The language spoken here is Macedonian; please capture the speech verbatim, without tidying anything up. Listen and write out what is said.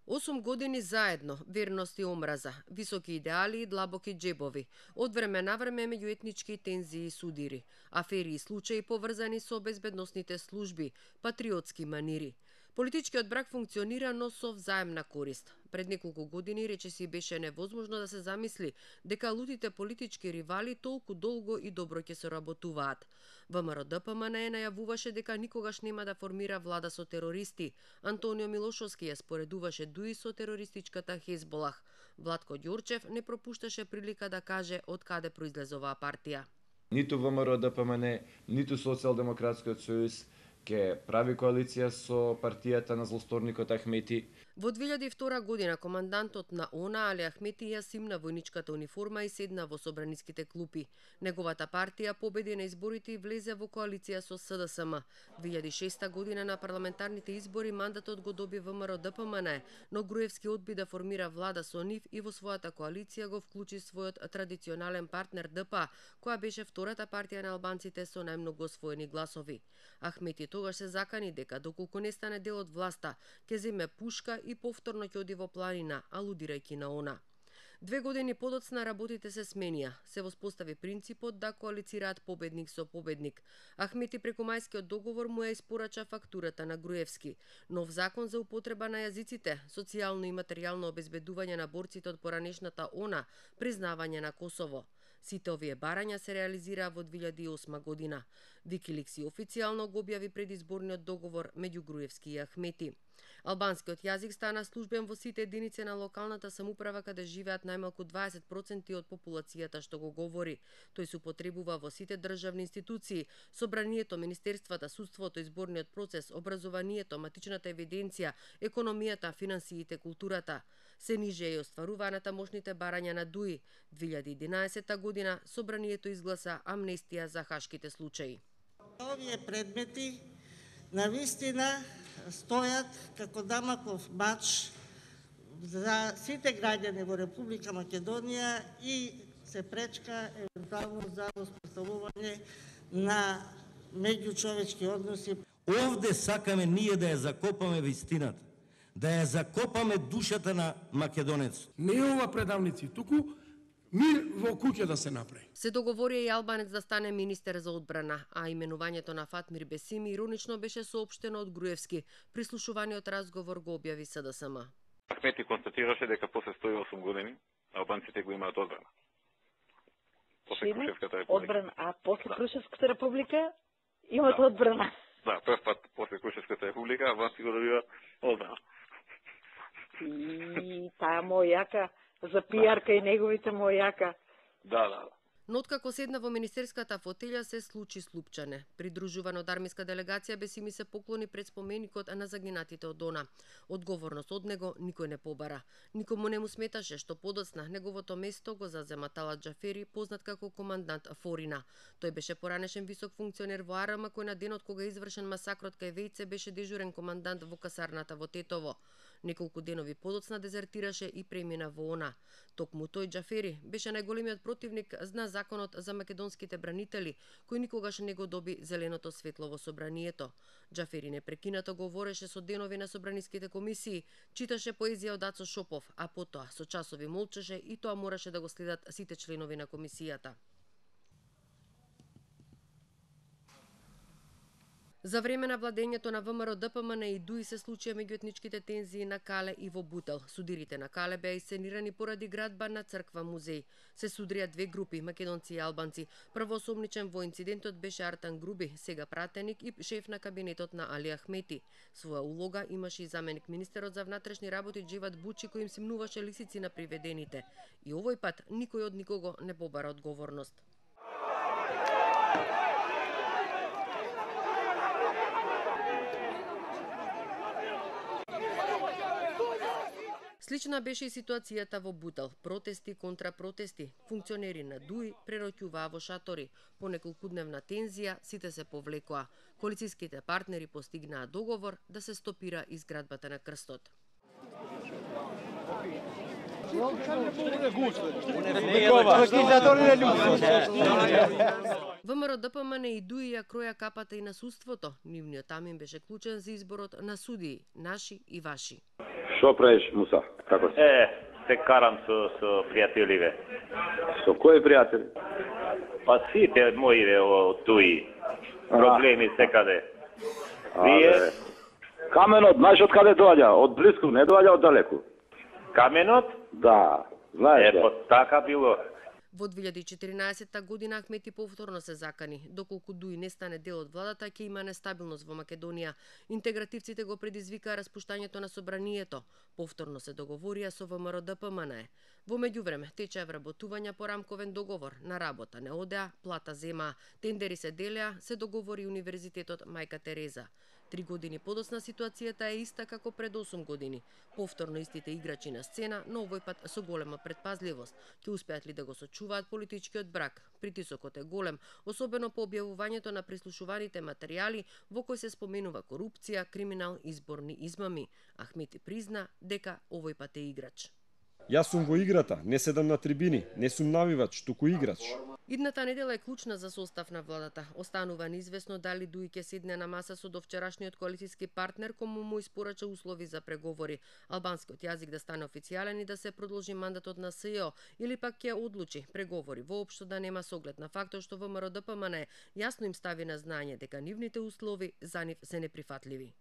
осум години заедно, верност и омраза, високи идеали и длабоки џебови, од време на време меѓуетнички тензии и судири, афери и случаи поврзани со безбедносните служби, патриотски манири. Политичкиот брак функционира, но со взаемна корист. Пред неколку години речиси беше невозможно да се замисли дека лутите политички ривали толку долго и добро ќе соработуваат. ВМРО-ДПМН најавуваше дека никогаш нема да формира влада со терористи. Антонио Милошовски ја споредуваше дуи со терористичката Хезболах. Владко Ѓорчев не пропушташе прилика да каже од каде произлезе оваа партија. Ниту ВМРО-ДПМН, ниту Социјалдемократскиот сојуз ке прави коалиција со партијата на злосторникот Ахмети. Во две илјади и втора година командантот на ОНА Али Ахмети ја симна војничката униформа и седна во собраниските клупи. Неговата партија победи на изборите и влезе во коалиција со СДСМ. две илјади и шеста година на парламентарните избори мандатот го доби ВМРО-ДПМН, но Груевски одби да формира влада со нив и во својата коалиција го вклучи својот традиционален партнер ДПА, која беше втората партија на албанците со најмногу освоени гласови. Ахмети тогаш се закани дека доколку не стане дел од власта, ќе земе пушка и повторно ќе оди во планина, алудирајќи на ОНА. Две години подоцна работите се сменија. Се воспостави принципот да коалицираат победник со победник. Ахмети преку мајскиот договор му ја испорача фактурата на Груевски. Нов закон за употреба на јазиците, социјално и материјално обезбедување на борците од поранешната ОНА, признавање на Косово. Сите овие барања се реализираа во две илјади и осма година. Викиликс официјално го објави предизборниот договор меѓу Груевски и Ахмети. Албанскиот јазик стана службен во сите единици на локалната самоуправа каде живеат најмалку дваесет проценти од популацијата што го говори. Тој се употребува во сите државни институции, собранието, министерствата, судството, изборниот процес, образованието, матичната евиденција, економијата, финансиите, културата. Се ниже е остваруваната мощните барања на ДУИ. две илјади и единаесета година собранието изгласа амнестија за хашките случаи. Овие предмети навистина стојат како дамаков мач за сите граѓани во Република Македонија и се пречка евентуално за воспоставување на меѓучовечки односи. Овде сакаме ние да ја закопаме вистината, да ја закопаме душата на македонецот. Не е ова предавници, туку мир во куќа да се направи. Се договори и албанец да стане министер за одбрана, а именувањето на Фатмир Бесими иронично беше соопштено од Груевски. Прислушуваниот разговор го објави СДСМ. Ахмети констатираше дека после сто и осум години албанците го имаат одбрана. После Крушевската република. Одбрана, а после Крушевската република имаат да. одбрана. Да, прв пат после Крушевската република албанците го добива одбрана. И таа мојака за пијарка и неговите мојака. Да, да. Но откако седна во министерската фотелја се случи слупчане. Придружуван од армиска делегација Бесими се поклони пред споменикот на загинатите од ОНА. Одговорност од него никој не побара. Никому не му сметаше што подоцна неговото место го зазема Талат Џафери, познат како командант Форина. Тој беше поранешен висок функционер во АРМ, кој на денот кога извршен масакрот кај Вејце беше дежурен командант во касарната во Тетово. Неколку денови подоцна дезертираше и премина во ОНА. Токму тој Џафери беше најголемиот противник на законот за македонските бранители, кој никогаш не го доби зеленото светло во собранието. Џафери непрекинато говореше со денови на собраниските комисии, читаше поезија од Ацо Шопов, а потоа со часови молчеше и тоа мораше да го следат сите членови на комисијата. За време на владењето на ВМРО-ДПМН и ДУИ се случија меѓуетничките тензии на Кале и во Бутел. Судирите на Кале беа исценирани поради градба на црква музеј. Се судрија две групи, македонци и албанци. Првоосомничен во инцидентот беше Артан Груби, сега пратеник и шеф на кабинетот на Али Ахмети. Своја улога имаше и заменик министерот за внатрешни работи Џевад Бучи, кој им симнуваше лисици на приведените. И овој пат никој од никого не побара одговорност. Слична беше и ситуацијата во Бутел. Протести контра протести. Функционери на ДУИ прероќуваа во шатори. По неколкудневна тензија сите се повлекоа. Коалицијските партнери постигнаа договор да се стопира изградбата на крстот. ВМРО-ДПМН и ДУИ ја кроја капата и на судството. Нивниот тамин беше клучен за изборот на судии, наши и ваши. Што правиш, Муса? Како си? Е, се карам со, со пријателиве. Со кои пријатели? Па сите моиве од туи. Проблеми секаде. Вие? Каменот, знаеш од каде доаѓа? Од близко, не доаѓа од далеку. Каменот? Да, знаеш. Е, па така било. Во две илјади и четиринаесетта година Ахмети повторно се закани. Доколку Дуи не стане дел од владата, ќе има нестабилност во Македонија. Интегративците го предизвикаа распуштањето на собранието. Повторно се договорија со ВМРО Д П М Н Е. Во меѓувреме течеа вработувања по рамковен договор, на работа не одеа, плата земаа, тендери се делеа, се договори Универзитетот Мајка Тереза. Три години подоцна ситуацијата е иста како пред осум години. Повторно истите играчи на сцена, но овој пат со голема предпазливост. Ќе успеат ли да го сочуваат политичкиот брак? Притисокот е голем, особено по објавувањето на прислушуваните материјали во кои се споменува корупција, криминал и изборни измами. Ахмети призна дека овој пат е играч. Јас сум во играта, не седам на трибини, не сум навивач, туку играч. Идната недела е клучна за состав на владата. Останува неизвестно дали Дуи ќе седне на маса со довчерашниот коалицијски партнер кому му испорача услови за преговори, албанскиот јазик да стане официјален и да се продолжи мандатот на С Ј О, или пак ќе одлучи преговори воопшто да нема с оглед на фактот што ВМРО Д П М Н Е јасно им стави на знање дека нивните услови за нив се неприфатливи.